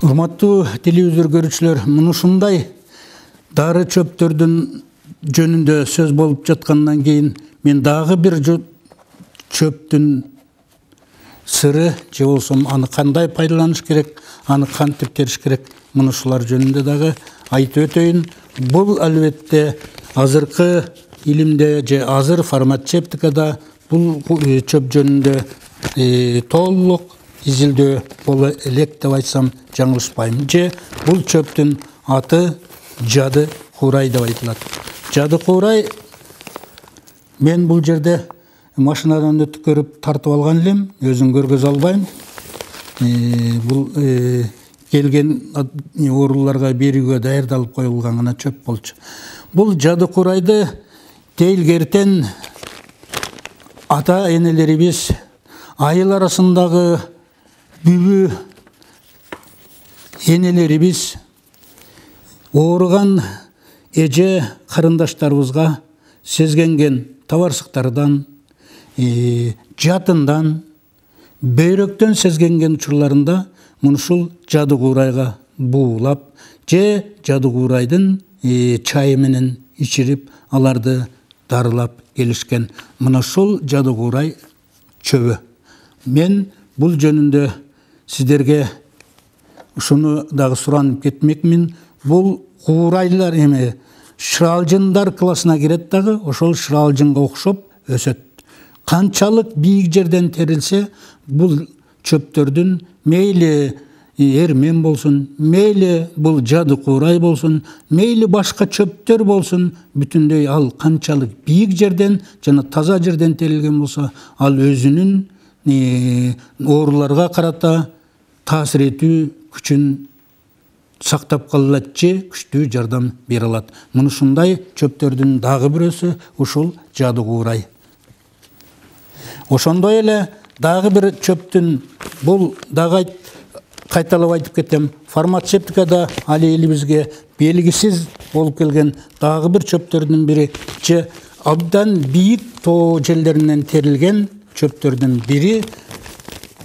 Урматтуу телевизор көрүүчүлөр, мынушундай дары чөптөрдүн жөнүндө сөз болуп жаткандан кийин мен дагы бир чөптүн сыры же болсо аны кандай пайдаланыш керек, аны кантип териш керек, мынушулар жөнүндө дагы айтып өтөйүн. Бул албетте азыркы илимде же азыр фармацевтикада бул чөп жөнүндө толук изилдөө боло элек деп айтсам жаңылышпайм. Же бул чөптүн аты жады куурай деп айтылат. Жады куурай мен бул жерде машинадан өткөрүп тартып алган элем, өзүм көргөзө албайм. Бул келген ооруларга берүүгө даярдалып коюлган гана чөп болчу. Бул жады куурайды тейлгертен ата энелерибиз айыл арасындагы бүбү энелерибиз ооруган эже карындаштарыбызга сезгенген табарсыктардан, жатындан, бөйрөктөн сезгенген учурларында мунушул жады куурайга буулап же жады куурайдын чайы менен ичирип аларды дарылап келишкен. Мунушул жады куурай чөбү. Мен бул жөнүндө сиздерге ушуну дагы суранып кетмекмин. Бул куурайлар шыралжындар классына кирет дагы, ошол шыралжынга окшоп өсөт. Канчалык бийик жерден терилсе, бул чөптөрдүн мейли эрмен болсун, мейли бул жады куурай болсун, мейли башка чөптөр болсун, бүтүндөй ал канчалык бийик жерден жана таза жерден терилген болсо, ал өзүнүн ооруларга карата таасир этүү күчүн сактап кала алат же күчтүү жардам бере алат. Мунушундай чөптөрдүн дагы бирөөсү ушул жады куурай. Ошондой эле дагы бир чөптүн, бул дагы кайталап айтып кетем, фармацевтикада али элибизге белгисиз болуп келген дагы бир чөптөрдүн бири же абдан бийик тоо жерлеринен терилген чөптөрдүн бири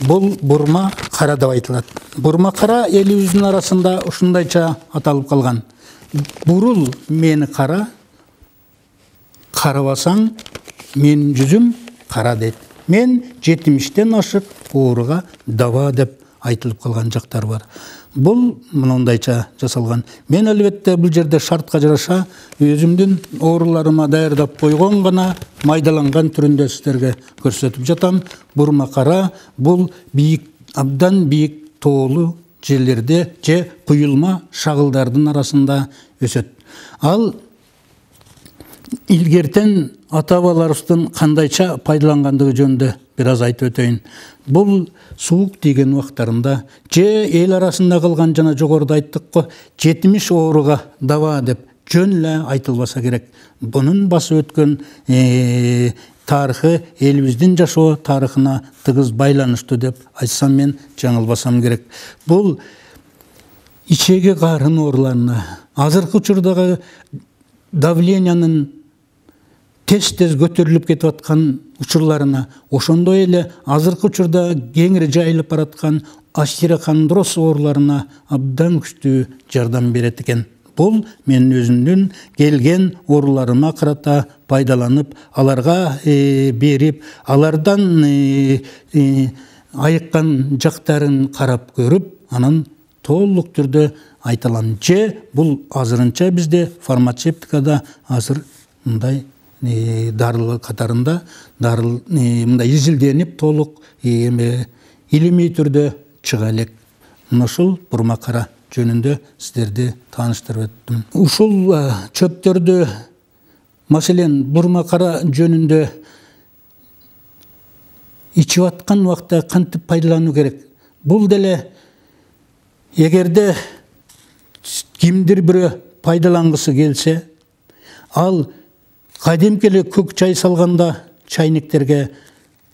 бул бурма кара деп айтылат. Бурма кара элибиздин арасында ушундайча аталып калган. Бурул мени кара, карабасаң менин жүзүм кара дейт. Мен 70-тен ашык ооруга даба деп айтылып калган жактар бар. Бул мындай жасалган. Мен албетте бул жерде шартка жараша өзүмдүн ооруларыма даярдап койгон гана майдаланган түрүндө сиздерге көрсөтүп жатам. Бурма кара бул бийик, абдан бийик тоолуу жерлерде же куюлма шагылдардын арасында өсөт. Ал илгертен ата-бабаларыбыздын кандайча пайдалангандыгы жөнүндө бир аз айтып өтөйүн. Бул суук тийген убактарында же эл арасында кылган жана жогоруда айттык го 70 ооруга даба деп жөн эле айтылбаса керек. Бунун басып өткөн тарыхы элибиздин жашоо тарыхына тыгыз байланыштуу деп айтсам мен жаңылбасам керек. Бул ичеги карын ооруларына, азыркы учурдагы давлениянын тез көтөрүлүп кетип аткан учурларына, ошондой эле азыркы учурда кеңири жайылып бараткан остерохондроз ооруларына абдан күчтүү жардам берет экен. Бул менин өзүмдүн келген ооруларыма карата пайдаланып, аларга берип, алардан айыккан жактарын карап көрүп, анан толук түрдө айта алам. Же бул азырынча бизде фармацевтикада азыр мындай дарылы катарында мындай изилденип толук илимий түрдө чыга элек. Ушул бурма кара жөнүндө сиздерди тааныштырып өттүм. Ушул чөптөрдү, маселен бурма кара жөнүндө ичип аткан убакта кантип пайдалануу керек? Бул деле эгерде кимдир бирөө пайдалангысы келсе, ал кадимки эле көк чай салганда чайниктерге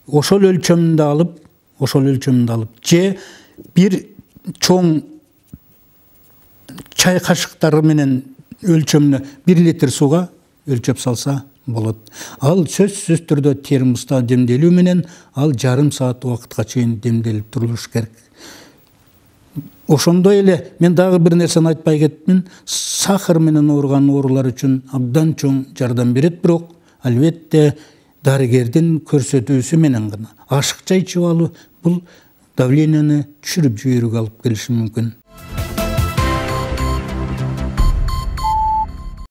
ошол өлчөмүндө алып, же бир чоң чай кашыктары менен өлчөмүнө 1 литр сууга өлчөп салса болот. Ал сөзсүз түрдө термоста демделүү менен ал жарым саат убакытка чейин демделип турулуш керек. Ошондой эле мен дагы бир нерсени айтпай кетмин. Сахар менен ооруган оорулар үчүн абдан чоң жардам берет, бирок албетте дарыгердин көрсөтүүсү менен гана. Ашыкча ичип алуу бул давленияны түшүрүп жиберүүгө алып келиши мүмкүн.